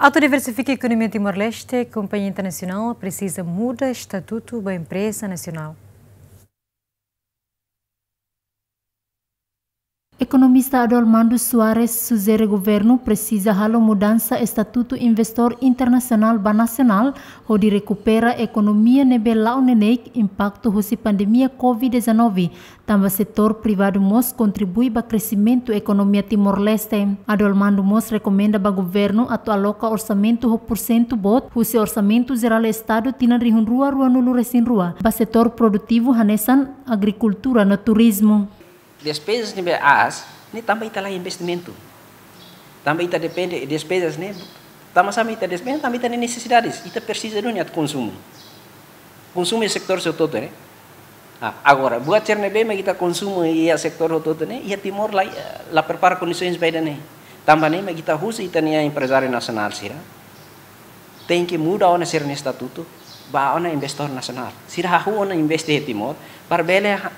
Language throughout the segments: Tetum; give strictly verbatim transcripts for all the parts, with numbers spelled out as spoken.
Atu diversifika ekonomia Timor-Leste, kompañia internasionál presiza muda estatutu ba empreza nasionál. Ekonomista Adelmando Soares sujere governu presiza halo mudansa estatutu investór internasionál ba nasionál, hodi rekupera ekonomia ne'ebé la'o neineik impaktu husi pandemia covid dezanove, tanba setór privadu mós kontribui ba kresimentu ekonomia Timor-Leste. Adelmando mós rekomenda ba governu atu aloka orsamentu ho pursentu boot husi Orsamentu Jerál Estadu tinan rihun rua ruanulu resin rua ba setór produtivu hanesan agrikultura no turizmu. Despezas ne'ebé aas ne'e tanba ita laiha investimentu. Tanba ita depende despezas ne'e, tanba sá mak ita despende, tanba ita-nia nesesidades. Ita presiza duni atu konsumu. Konsumu iha setór hotu-hotu ne'e. Ah, agora, buat sira ne'ebé mak ita konsumu iha setór hotu-hotu ne'e, iha Timor la, la prepara kondisoens ba ida-ne'e. Tanba ne'e mak ita husu ita-nia emprezáriu nasionál sira tenke muda ona sira-nia estatutu ba ona investór nasionál. Sira hahú ona investe iha Timor, para bele ha-,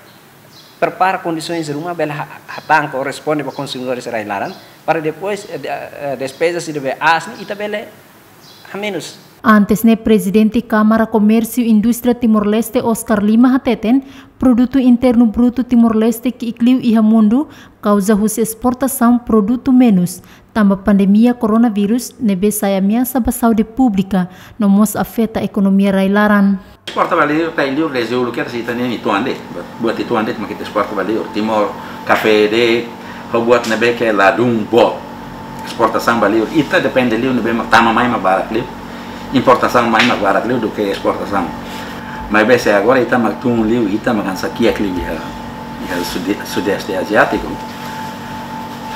prepara kondisoens ruma, bele ha-, hatán korresponde ba konsumidores rai-laran, para depois, eh, de-, eh, despezas sira ne'ebé aas ne'e, ita bele hamenus. Antes ne'e, Prezidente Kámara Komérsiu Indústria Timor-Leste, Oscar Lima, hateten, Produtu Internu Brutu Timor-Leste ki'ik liu iha mundu, kauza husi esportasaun produtu menus, tanba pandemia koronavírus ne'ebé sai ameasa ba saúde públika, no mós afeta ekonomia rai-laran. Esporta ba liur, ita liu rezolu ke ita-nia uitoan de'it, buat uitoan de'it mak ita esporta ba liur. Timor, kafé de'it, ho buat ne'ebé ke ladún boot. Esportasaun ba liur, ita depende liu ne'ebé mak tama mai mak barak liu. Importasaun mai mak barak liu duké esportasaun. Maibé se agora ita mak tun liu, ita mak hanesan kiak liu iha, iha Sude-, Sudeste Aziátiku.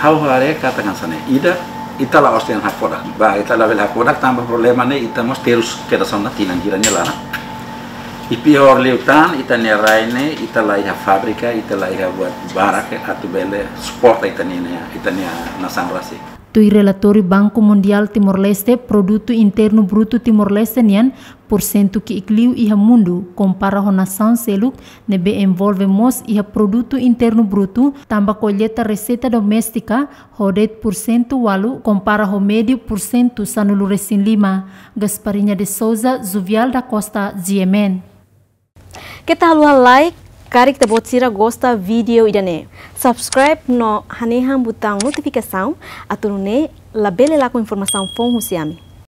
Ha'u haree katak hanesan ne'e, ida, ita la'ós dehan hakfodak. Ba, ita labele hakfodak tanba problema ne'e, ita mós terus kedas ona tinan hira nia laran. I piór liután, ita-nia rai ne'e, ita laiha fábrika, ita laiha buat barak, atu bele suporta ita-nia, ita-nia nasaun rasik. Tuir relatóriu Banku Mundiál Timor-Leste, Produtu Internu Brutu Timor-Leste nian, pursentu ki'ik liu iha mundu, kompara ho nasaun seluk, ne'ebé envolve mós iha Produtu Internu Brutu, tanba kolleta reseita doméstika, ho de'it pursentu ualu, kompara ho médiu pursentu sanulu resin lima. Gasparinha de Souza, Juvial da Costa, G M N. Keta haluha like, karik ita-boot sira gosta vídeo ida-ne'e. Subscribe no hanehan butaun notifikasaun, atu nune'e labele lakon informasaun foun husi ami.